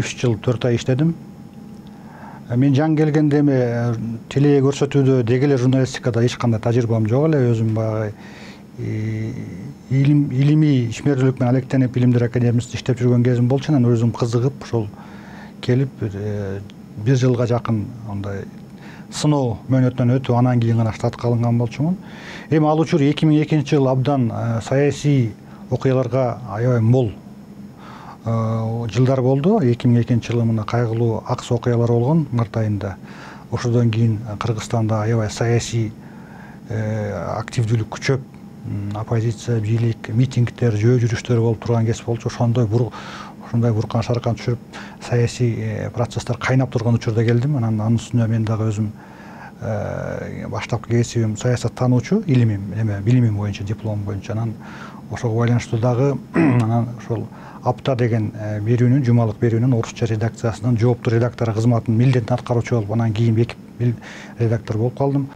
3 жыл 4 ай иштедим. Мен жаңы келгенде эми теле көрсөтүүдө деги эле журналистикада эч кандай тажрыйбам жок эле. Өзүм баягы илимий ишмердүүлүк менен алектенип Илимдер академиясында иштеп жүргөн кезим болчу. Анан өзүм кызыгып ошол келип 1 жылга жакын андай сыноо мөөнөтүнөн өтүп, анан кийин гана штатка алынган болчумун. Эми ал учур 2002-жылы абдан саясий окуяларга аябай мол жылдар болду. 2002-жылы мына кайгылуу Акс окуялар болгон март айында. Ошодон кийин Кыргызстанда аябай саясий активдүүлүк күчөп, оппозиция, бийлик, митингдер, жөө жүрүштөр болуп турган кез болчу. Ошондой буркан шаркан түшүрүп, саясий процесстер кайнап турган учурда келдим. Анан анын үстүнө мен дагы өзүм баштапкы кесибим саясаттануучу, билимим боюнча, дипломум боюнча. Анан ошого байланыштуу дагы анан ошол Апта деген берүүнүн, жумалык берүүнүн орусча редакциясынын жооптуу редактору кызматын милдетин аткаруучу болуп, анан кийин редактор болуп калдым.